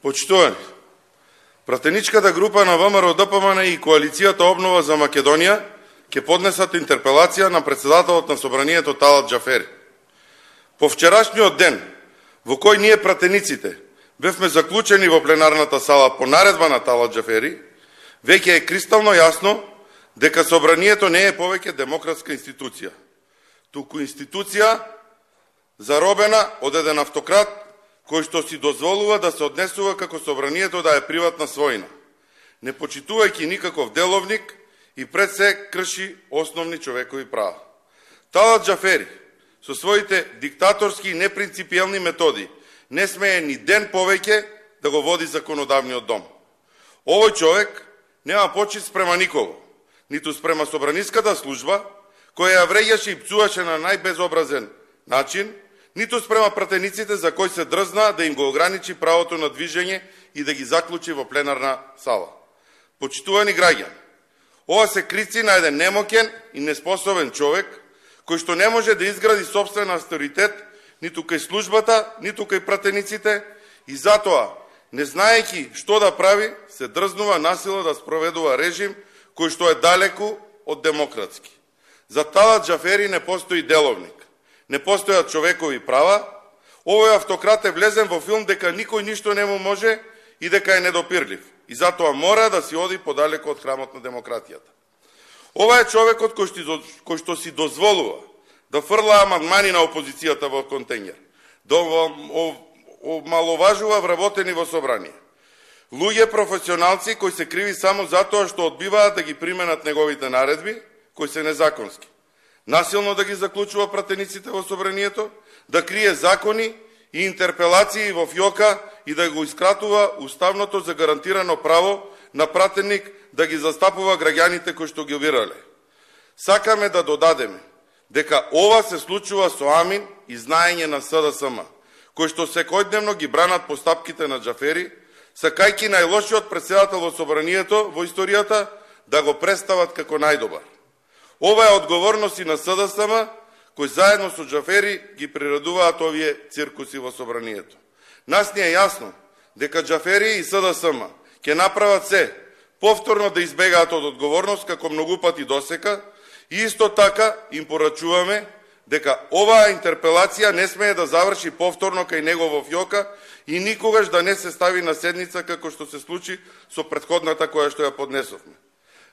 Почитувани, пратеничката група на ВМРО-ДПМН и Коалицијата Обнова за Македонија ќе поднесат интерпелација на председателот на Собранието Талат Џафери. По вчерашниот ден, во кој ние пратениците бевме заклучени во пленарната сала по наредба на Талат Џафери, веќе е кристално јасно дека Собранието не е повеќе демократска институција, туку институција заробена од еден автократ кој што си дозволува да се однесува како Собранието да е приватна својна, не почитувајќи никаков деловник и пред се крши основни човекови права. Талат Џафери со своите диктаторски и непринципиелни методи не смее ни ден повеќе да го води законодавниот дом. Овој човек нема почит спрема никого, ниту спрема собраниската служба, која ја вреѓаше и пцуваше на најбезобразен начин, ниту спрема пратениците за кои се дрзна да им го ограничи правото на движење и да ги заклучи во пленарна сала. Почитувани граѓани, ова се крици на еден немокен и неспособен човек, кој што не може да изгради сопствен авторитет ниту кај службата, ниту кај пратениците, и затоа, не знаејќи што да прави, се дрзнува насила да спроведува режим кој што е далеку од демократски. За Талат Џафери не постои деловник, не постојат човекови права. Овој автократ е влезен во филм дека никој ништо не му може и дека е недопирлив, и затоа мора да си оди подалеку од храмот на демократијата. Ова е човекот кој што си дозволува да фрла амандмани на опозицијата во контењер, да омаловажува вработени во собрание. Луѓе професионалци кои се криви само затоа што одбиваат да ги применат неговите наредби, кои се незаконски. Насилно да ги заклучува пратениците во собранието, да крие закони и интерпелации во фјока и да го искратува уставното загарантирано право на пратеник да ги застапува граѓаните кои што ги бирале. Сакаме да додадеме дека ова се случува со амин и знаење на СДСМ, кои што секојдневно ги бранат постапките на Џафери, сакајќи најлошиот председател во собранието во историјата да го представат како најдобар. Ова е одговорност и на СДСМ, кои заедно со Џафери ги приредуваат овие циркуси во собранието. Нас ни е јасно дека Џафери и СДСМ ќе направат се повторно да избегаат од одговорност како многу пати досека, и исто така им порачуваме дека оваа интерпелација не смее да заврши повторно кај него во фјока и никогаш да не се стави на седница како што се случи со претходната која што ја поднесовме.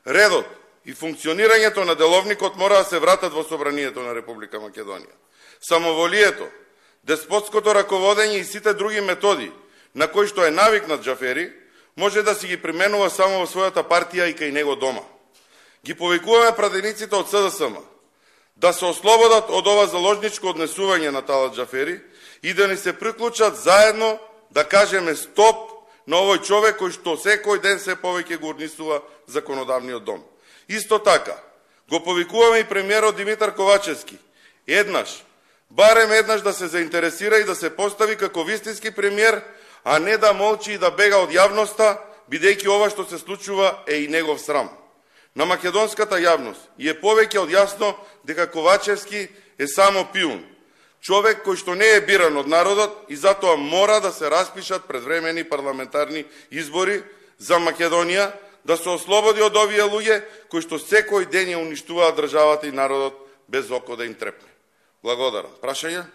Редот и функционирањето на деловникот мора да се вратат во собранието на Република Македонија. Самоволието, деспотското раководење и сите други методи на кои што е навикнат Џафери, може да си ги применува само во својата партија и кај него дома. Ги повикуваме пратениците од СДСМ да се ослободат од ова заложничко однесување на Талат Џафери и да ни се приклучат заедно да кажеме стоп на овој човек кој што секој ден се повеќе го урнисува законодавниот дом. Исто така, го повикуваме и премиерот Димитар Ковачевски, барем еднаш да се заинтересира и да се постави како вистински премиер, а не да молчи и да бега од јавноста, бидејќи ова што се случува е и негов срам. На македонската јавност е повеќе од јасно дека Ковачевски е само пиун, човек кој што не е биран од народот и затоа мора да се распишат предвремени парламентарни избори за Македонија, да се ослободи од овие луѓе кои што секој ден ја уништуваат државата и народот без око да им трепне. Благодарам. Прашања?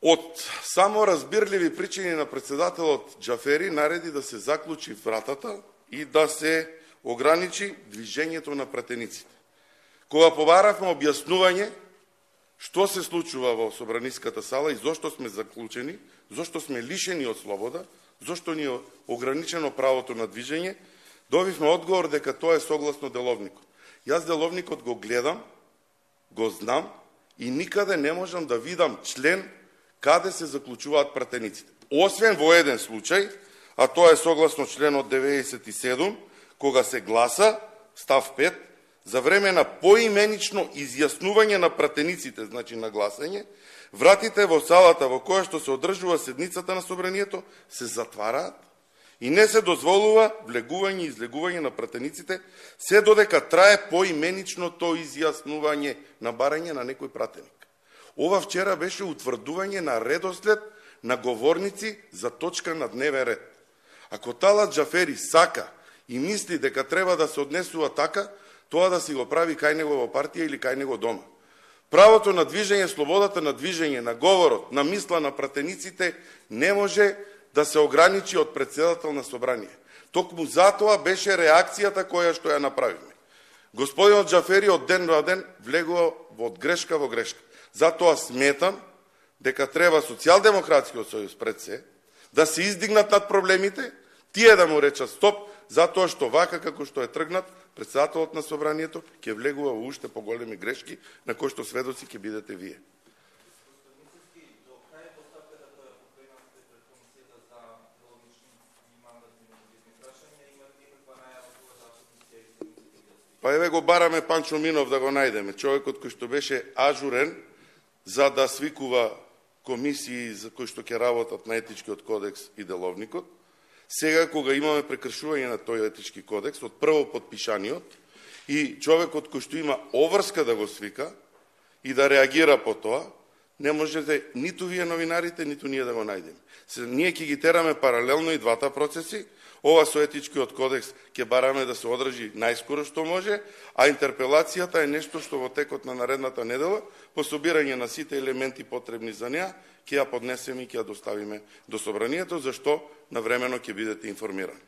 Од само разбирливи причини на председателот Џафери нареди да се заклучи вратата и да се ограничи движењето на пратениците. Кога побаравме објаснување што се случува во собраниската сала и зошто сме заклучени, зошто сме лишени од слобода, зошто ни е ограничено правото на движење, добивме одговор дека тоа е согласно деловникот. Јас деловникот го гледам, го знам и никаде не можам да видам член каде се заклучуваат пратениците. Освен во еден случај, а тоа е согласно членот 97, кога се гласа, став 5, за време на поименично изјаснување на пратениците, значи на гласање, вратите во салата во која што се одржува седницата на собранието се затвараат и не се дозволува влегување и излегување на пратениците, се додека трае поименичното изјаснување на барање на некој пратеник. Ова вчера беше утврдување на редослед на говорници за точка на дневен ред. Ако Талат Џафери сака и мисли дека треба да се однесува така, тоа да си го прави кај него во партија или кај него дома. Правото на движење, слободата на движење, на говорот, на мисла на пратениците не може да се ограничи од претседател на собрание. Токму затоа беше реакцијата која што ја направиме. Господинот Џафери од ден на ден влегува од грешка во грешка. Затоа сметам дека треба Социјалдемократскиот сојуз пред се да се издигнат над проблемите, тие да му речат стоп, затоа што вака како што е тргнат, председателот на собранието ќе влегува во уште поголеми грешки на кои што сведоци ќе бидете вие. Па еве го бараме Панчо Минов да го најдеме, човекот кој што беше ажурен за да свикува комисии за кои што ќе работат на етичкиот кодекс и деловникот. Сега, кога имаме прекршување на тој етички кодекс, од прво подпишаниот, и човекот кој што има обврска да го свика и да реагира по тоа, не можете ниту вие новинарите, ниту ние да го најдеме. Ние ќе ги тераме паралелно и двата процеси. Ова со етичкиот кодекс ќе бараме да се одржи најскоро што може, а интерпелацијата е нешто што во текот на наредната недела, по собирање на сите елементи потребни за неа, ќе ја поднесеме и ќе ја доставиме до собранието, зашто навремено ќе бидете информирани.